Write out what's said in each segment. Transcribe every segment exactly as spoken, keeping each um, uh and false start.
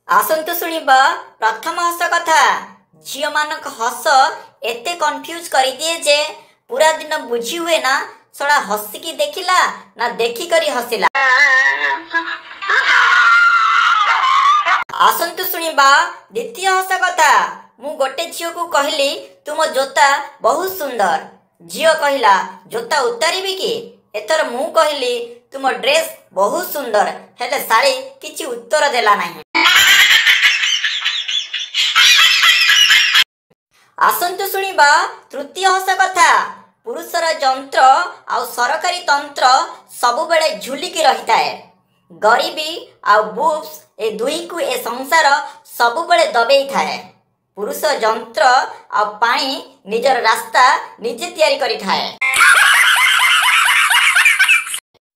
ଆସନ୍ତୁ ଶୁଣିବା ପ୍ରଥମ ହସ କଥା। ଝିଅମାନଙ୍କ ହସ ଏତେ କନଫ୍ୟୁଜ କରିଦିଏ ଯେ ପୁରା ଦିନ ବୁଝି ହୁଏ ନା ଶଳା ହସିକି ଦେଖିଲା ନା ଦେଖିକରି ହସିଲା। ଆସନ୍ତୁ ଶୁଣିବା ଦ୍ୱିତୀୟ ହସ କଥା। ମୁଁ ଗୋଟେ ଝିଅକୁ କହିଲି, ତୁମ ଜୋତା ବହୁତ ସୁନ୍ଦର। ଝିଅ କହିଲା, ଜୋତା ଉତାରିବି କି? ଏଥର ମୁଁ କହିଲି, ତୁମ ଡ୍ରେସ୍ ବହୁତ ସୁନ୍ଦର, ହେଲେ ଶାଳୀ କିଛି ଉତ୍ତର ଦେଲା ନାହିଁ। ଆସନ୍ତୁ ଶୁଣିବା ତୃତୀୟ ହସ କଥା। ପୁରୁଷର ଯନ୍ତ୍ର ଆଉ ସରକାରୀ ତନ୍ତ୍ର ସବୁବେଳେ ଝୁଲିକି ରହିଥାଏ। ଗରିବୀ ଆଉ ବୁବ୍ସ ଏ ଦୁହିଁଙ୍କୁ ଏ ସଂସାର ସବୁବେଳେ ଦବେଇଥାଏ। ପୁରୁଷ ଯନ୍ତ୍ର ଆଉ ପାଣି ନିଜର ରାସ୍ତା ନିଜେ ତିଆରି କରିଥାଏ।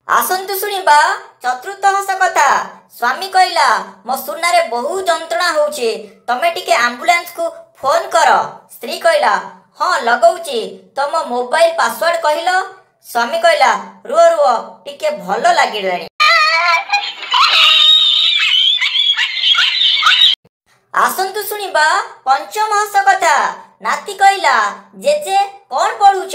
ଆସନ୍ତୁ ଶୁଣିବା ଚତୁର୍ଥ ହସ କଥା। ସ୍ୱାମୀ କହିଲା, ମୋ ସୁନାରେ ବହୁତ ଯନ୍ତ୍ରଣା ହଉଛି, ତମେ ଟିକେ ଆମ୍ବୁଲାନ୍ସକୁ ଫୋନ କର। ସ୍ତ୍ରୀ କହିଲା, ହଁ ଲଗଉଛି, ତମ ମୋବାଇଲ ପାସୱାର୍ଡ କହିଲ। ସ୍ୱାମୀ କହିଲା, ରୁହ ରୁହ, ଟିକେ ଭଲ ଲାଗିଲାଣି। ଆସନ୍ତୁ ଶୁଣିବା ପଞ୍ଚମ ହସ କଥା। ନାତି କହିଲା, ଜେଜେ କଣ ପଢୁଛ?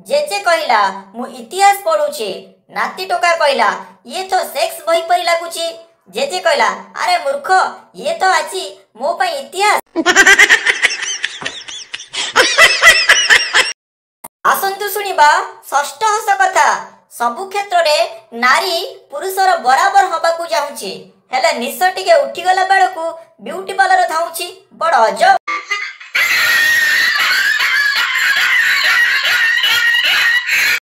ଜେଜେ କହିଲା, ମୁଁ ଇତିହାସ ପଢୁଛି। ନାତି ଟୋକା କହିଲା, ଇଏ ତ ସେକ୍ସ ବହି ପରି ଲାଗୁଛି। ଜେଜେ କହିଲା, ଆରେ ମୂର୍ଖ, ଇଏ ତ ଆଜି ମୋ ପାଇଁ ଇତିହାସ। ଆସନ୍ତୁ ଶୁଣିବା ଷଷ୍ଠ ହସ କଥା। ସବୁ କ୍ଷେତ୍ରରେ ନାରୀ ପୁରୁଷର ବରାବର ହବାକୁ ଚାହୁଁଛି, ହେଲେ ନିଶ ଟିକେ ଉଠିଗଲା ବେଳକୁ ବ୍ୟୁଟି ପାର୍ଲର ଧାଉଁଛି। ବଡ ଅଜବ।